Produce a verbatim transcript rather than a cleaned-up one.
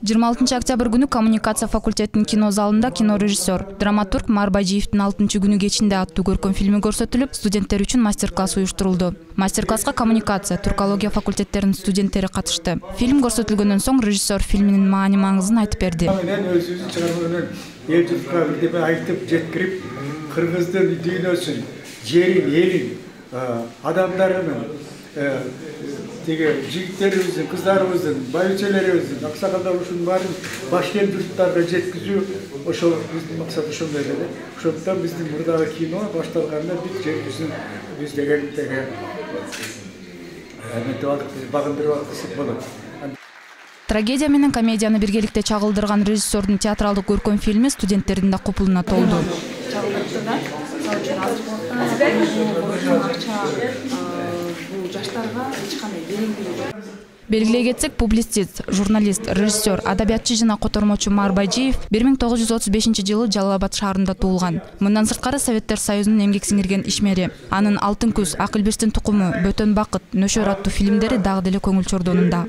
жыйырма алтынчы октябрь күнү коммуникация факультетинин кино залында кинорежиссер, драматург Марбажиевдин алтынчы күнү кечинде аттуу көркөм фильми көрсөтүлүп, студенттер үчүн мастер-класс уюштурулду. Мастер-класска коммуникация, туркология факультеттеринин студенттери катышты. Фильм көрсөтүлгөндөн соң режиссер фильминин маани-маңызын айтып берди. Мен өзүбүздүн чыгармалардан эл журтка бирдеме айтып жеткирип, кыргыздын дүйнөсүн, жерин, элин, адамдарын, теге жигиттерибиздин, кыздарыбыздын, байбичелерибиздин, аксакалдар ушунун баарын башкент журттарга жеткизүү ошол биздин максат ошондой эле. Ошондуктан биздин мурдагы кино башталганда бүт жер жүзүн биз деген теге эметип алдык, багындырып алдык десек болот. Трагедия менен комедияны биргеликте чагылдырган режиссердун театралдык көркөм фильми студенттердин да купулуна толду. Белгилей кетсек, публицист, журналист, режиссер, адабиятчы жана котормочу Марбажиев бир миң тогуз жүз отуз бешинчи жылы Жалал Абад шаарында туулган. Мындан сырткары Советтер Союзунун эмгек сиңирген ишмери. Анын Алтын күз, Акылбештин тукуму, Бөтөн бакыт, Нөшөр аттуу фильмдери дагы деле көңүл чордонунда.